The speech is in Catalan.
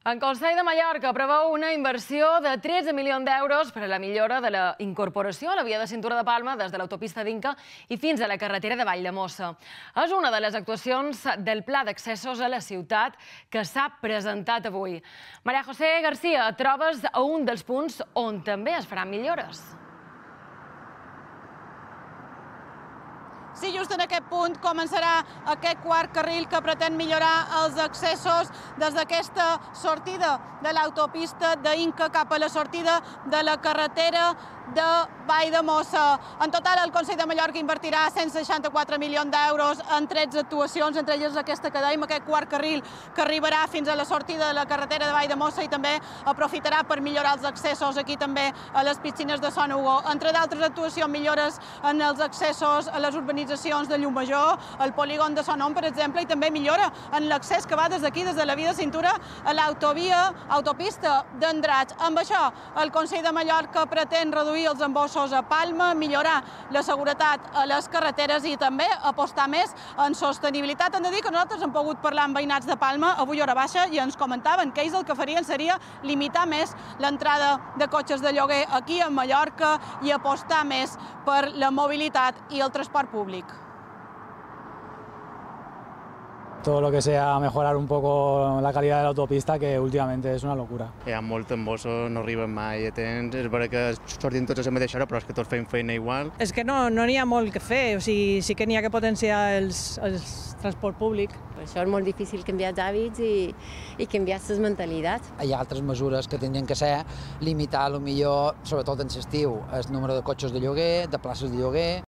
El Consell de Mallorca preveu una inversió de 13 milions d'euros per a la millora de la incorporació a la via de cintura de Palma des de l'autopista d'Inca i fins a la carretera de Valldemossa. És una de les actuacions del Pla d'accessos a la ciutat que s'ha presentat avui. Maria José García, et trobes a un dels punts on també es faran millores. Sí, just en aquest punt començarà aquest quart carril que pretén millorar els accessos des d'aquesta sortida de l'autopista d'Inca cap a la sortida de la carretera de Valldemossa. En total, el Consell de Mallorca invertirà 164 milions d'euros en 13 actuacions, entre elles aquesta que dèiem, aquest quart carril que arribarà fins a la sortida de la carretera de Valldemossa i també aprofitarà per millorar els accessos aquí també a les piscines de Son Hugo. Entre d'altres actuacions, millores en els accessos a les urbanitzacions de Llumajor, el polígon de Son Hom, per exemple, i també millora en l'accés que va des d'aquí, des de la via de cintura, a l'autopista d'Andratx. Amb això, el Consell de Mallorca pretén reduir els embossos a Palma, millorar la seguretat a les carreteres i també apostar més en sostenibilitat. Hem de dir que nosaltres hem pogut parlar amb veïnats de Palma avui a hora baixa i ens comentaven que ells el que farien seria limitar més l'entrada de cotxes de lloguer aquí a Mallorca i apostar més per la mobilitat i el transport públic. Todo lo que sea mejorar un poco la calidad de la autopista, que últimamente es una locura. Hi ha molt embossos, no arriben mai a temps, és vera que sortim tots a la mateixa hora, però és que tots fem feina igual. És que no n'hi ha molt que fer, o sigui, sí que n'hi ha que potenciar el transport públic. Per això és molt difícil canviar els hàbits i canviar les mentalitats. Hi ha altres mesures que tindrien que ser limitar, potser, sobretot en l'estiu, el número de cotxes de lloguer, de places de lloguer,